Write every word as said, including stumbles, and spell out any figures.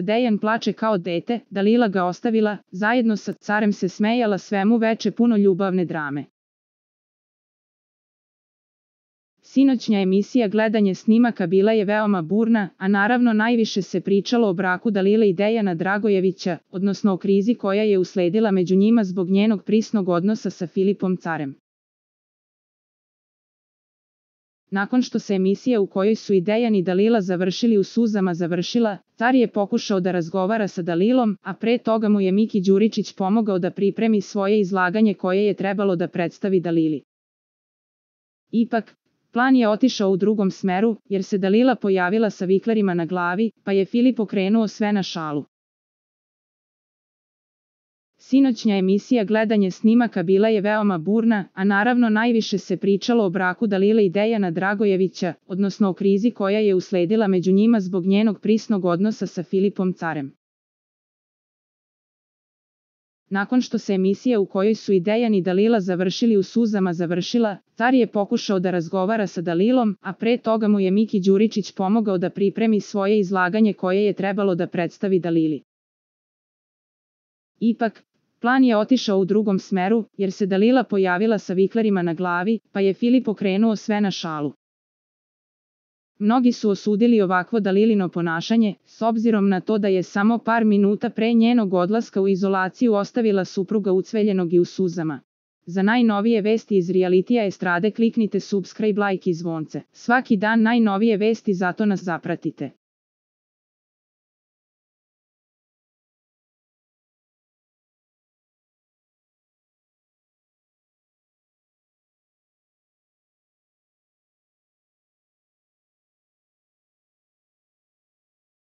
Dejan plače kao dete, Dalila ga ostavila, zajedno sa carem se smejala svemu veče puno ljubavne drame. Sinoćnja emisija gledanje snimaka bila je veoma burna, a naravno najviše se pričalo o braku Dalile i Dejana Dragojevića, odnosno o krizi koja je usledila među njima zbog njenog prisnog odnosa sa Filipom carem. Nakon što se emisija u kojoj su i Dejan i Dalila završili u suzama završila, car je pokušao da razgovara sa Dalilom, a pre toga mu je Miki Đuričić pomogao da pripremi svoje izlaganje koje je trebalo da predstavi Dalili. Ipak, plan je otišao u drugom smeru, jer se Dalila pojavila sa viklerima na glavi, pa je Filip okrenuo sve na šalu. Sinoćnja emisija gledanje snimaka bila je veoma burna, a naravno najviše se pričalo o braku Dalile i Dejana Dragojevića, odnosno o krizi koja je usledila među njima zbog njenog prisnog odnosa sa Filipom carem. Nakon što se emisija u kojoj su i Dejan i Dalila završili u suzama završila, car je pokušao da razgovara sa Dalilom, a pre toga mu je Miki Đuričić pomogao da pripremi svoje izlaganje koje je trebalo da predstavi Dalili. Ipak, plan je otišao u drugom smeru, jer se Dalila pojavila sa viklerima na glavi, pa je Filip okrenuo sve na šalu. Mnogi su osudili ovakvo Dalilino ponašanje, s obzirom na to da je samo par minuta pre njenog odlaska u izolaciju ostavila supruga ucveljenog i u suzama. Za najnovije vesti iz realitija estrade kliknite subscribe, like i zvonce. Svaki dan najnovije vesti, zato nas zapratite.